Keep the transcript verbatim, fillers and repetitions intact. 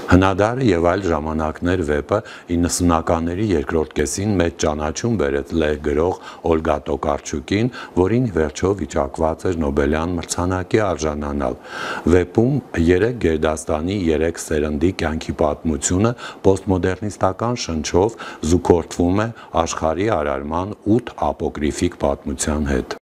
Հնադարը եւ այլ ժամանակներ վեպը իննսունականների երկրորդ կեսին մեծ ճանաչում բերեց լեհ գրող Օլգա Տոկարչուկին, որին վերջո վիճակված էր Նոբելյան մրցանակի արժանանալ։ Վեպում երեք գերդաստանի երեք սերնդի կյանքի պատմությունը պոստմոդեռնիստական շնչով զուգորդվում է աշխարհի արարման ութ ապոկրիֆիկ պատմության հետ։